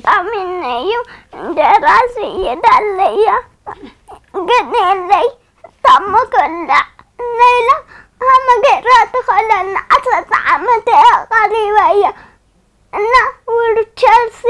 ጣሚነዩ ደራሲ ይዳለያ ግን የለይ ታሞ ከላ ነይላ ሃመ ገይራ ትኸለና ዓሰርተ ዓመት እያ ቀሪባ እያ እና ውልቸርሲ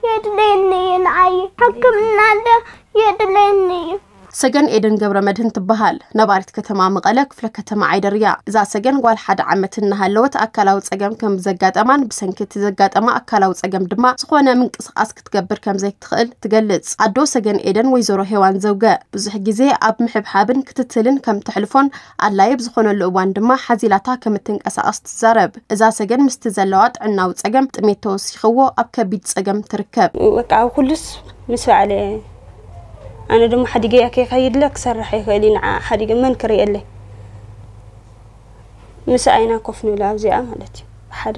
የድለየኒ እዩ ንዓይ ሕክምና ዶ የድለየኒ እዩ። ሰገን ኤደን ገብረ መድህን ትበሃል። ነባሪት ከተማ መቐለ ክፍለ ከተማ ዓይደር እያ። እዛ ሰገን ጓል ሓደ ዓመት እናሃለወት ኣካላዊ ጸገም ከም ዘጋጠማን ብሰንኪ እቲ ዘጋጠማ ኣካላዊ ጸገም ድማ ዝኾነ ምንቅስቓስ ክትገብር ከም ዘይትኽእል ትገልጽ። ኣዶ ሰገን ኤደን ወይዘሮ ሄዋን ዘውገ ብዙሕ ግዜ ኣብ ምሕብሓብን ክትትልን ከም ተሕልፎን ኣድላዪ ብዝኾነሉ እዋን ድማ ሓዚላታ ከም እትንቀሳቐስ ትዛረብ። እዛ ሰገን ምስቲ ዘለዋ ጥዕናዊ ጸገም ጥሜት ተወሲኽዎ ኣብ ከቢድ ጸገም ትርከብ። በቃ ኣብ ኩሉስ ምስ በዓለ ኣነ ድማ ሓዲገያ ከይኸይድለ ክሰርሕ ይኽእል እዩ ንዓ ሓዲገ መን ክርእየለይ ምስ ኣይና ኮፍ ንብል ኣብዚኣ ማለት እዩ ብሓደ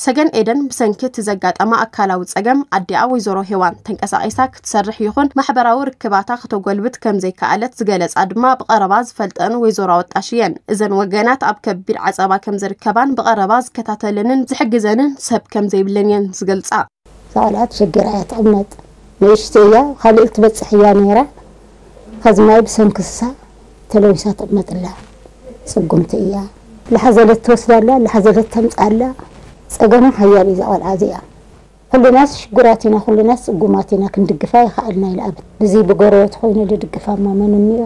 ሰገን ኤደን ብሰንኪ እቲ ዘጋጠማ ኣካላዊ ጸገም ኣዲኣ ወይዘሮ ሄዋን ተንቀሳቒሳ ክትሰርሕ ይኹን ማሕበራዊ ርክባታ ክተጎልብት ከም ዘይከኣለት ዝገለጻ ድማ ብቐረባ ዝፈልጠን ወይዘሮ ኣወጣሽ እየን። እዘን ወገናት ኣብ ከቢድ ዓጸባ ከም ዝርከባን ብቐረባ ዝከታተለንን ዝሕግዘንን ሰብ ከም ዘይብለን እየን ዝገልጻ። እዛ ቆልዓ ተሸጊራ እያ ትቕመጥ። ንእሽተይ እያ፣ ካልእ ትበጽሕ እያ ነይራ። ኸዚ ማይ ብሰንኪ ንሳ ተለዊሳ ትቕመጥ ኣላ። ጽጉምቲ እያ። ላሓዘለት ትወስዳ ኣላ፣ ላሓዘለት ተምጽእ ኣላ። ጸገማ ሓያል እዩ እዛ ቆልዓ እዚኣ። ኩሉናስ ሽጉራት ኢና፣ ኩሉናስ ጽጉማት ኢና፣ ክንድግፋ ኣይኸኣልና ኢላ ኣበት። ብዚ ብጎረበት ኾይኑ ድድግፋ እሞ መን እኒኦ?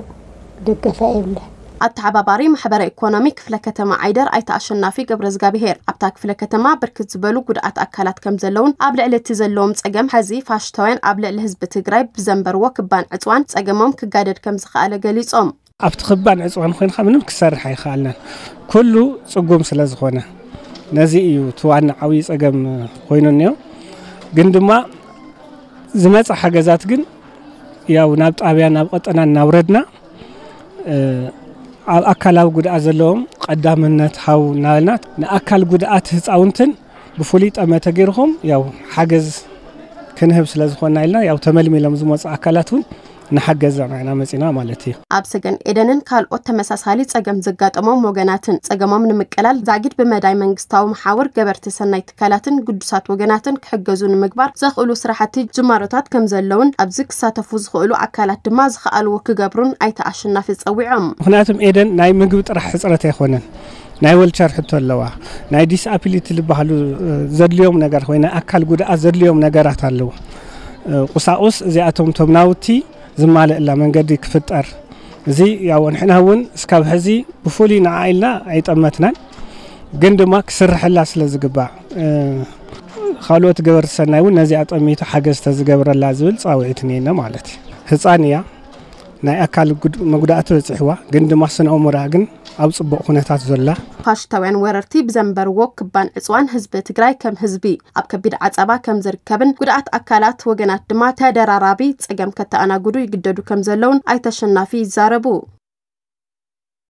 ደገፋ የብላን። ኣተሓባባሪ ማሕበረ ኢኮኖሚ ክፍለ ከተማ ዓይደር ኣይተ ኣሸናፊ ገብረዝጋብሄር ኣብታ ክፍለ ከተማ ብርክት ዝበሉ ጉድኣት ኣካላት ከም ዘለውን ኣብ ልዕሊ እቲ ዘለዎም ጸገም ሐዚ ፋሽስታውያን ኣብ ልዕሊ ህዝቢ ትግራይ ብዘንበርዎ ክባን ዕፅዋን ጸገሞም ክጋደድ ከም ዝኸኣለ ገሊጾም። ኣብቲ ክባን ዕፅዋን ኮይንካ ምንም ክሰርሕ ኣይኸኣልናን ኩሉ ፅጉም ስለ ዝኾነ ነዚ እዩ እቲ ዋና ዓብዪ ፀገም ኮይኑ እኒኦ ግን ድማ ዝመፀ ሓገዛት ግን ያው ናብ ጣብያ ናብ ቀጠና እናውረድና ኣብ ኣካላዊ ጉድኣት ዘለዎም ቀዳምነት ሃው እናበልና ንኣካል ጉድኣት ህፃውንትን ብፍሉይ ጠመተ ገይርኹም ያው ሓገዝ ክንህብ ስለ ዝኾንና ኢልና ያው ተመልሚሎም ዝመፁ ኣካላት እውን ንሓገዝ ኢና መፂና ማለት እዩ። ኣብ ሰገን ኤደንን ካልኦት ተመሳሳሊ ፀገም ዘጋጠሞም ወገናትን ፀገሞም ንምቅላል ዛጊድ ብመዳይ መንግስታዊ መሓውር ገበርቲ ሰናይ ትካላትን ግዱሳት ወገናትን ክሕገዙ ንምግባር ዘኽእሉ ስራሕቲ ጅማሮታት ከም ዘለውን ኣብዚ ክሳተፉ ዝኽእሉ ኣካላት ድማ ዝኸኣልዎ ክገብሩን ኣይተ ኣሸናፊ ፀዊዖም። ምኽንያቱም ኤደን ናይ ምግቢ ጥራሕ ሕፅረት ኣይኮነን ናይ ወልቸር ሕቶ ኣለዋ ናይ disability ዝበሃሉ ዘድልዮም ነገር ወይ ናይ ኣካል ጉድኣት ዘድልዮም ነገራት ኣለዉ ቁሳቁስ እዚኣቶም ቶም ናውቲ ዝማልእላ መንገዲ ክፍጠር እዚ ያው ንሕና እውን እስካብ ሕዚ ብፍሉይ ንዓ ኢልና ኣይጠመትናን ግን ድማ ክስርሐላ ስለ ዝግባእ ካልኦት ገበርቲ ሰናይ እውን ነዚኣ ጠሚቱ ሓገዝ ተዝገብረላ ዝብል ፃውዒት እኒኤና ማለት እዩ ህፃን እያ ናይ ኣካል መጉዳእቲ በፂሕዋ ግን ድማ ስነ ኣእምሮኣ ግን ኣብ ፅቡቕ ኩነታት ዘላ ፋሽስታውያን ወረርቲ ብዘንበርዎ ክባን ዕፅዋን ህዝቢ ትግራይ ከም ህዝቢ ኣብ ከቢድ ዓፀባ ከም ዝርከብን ጉድኣት ኣካላት ወገናት ድማ ተደራራቢ ፀገም ከተኣናግዱ ይግደዱ ከም ዘለውን ኣይተ ኣሸናፊ ይዛረቡ።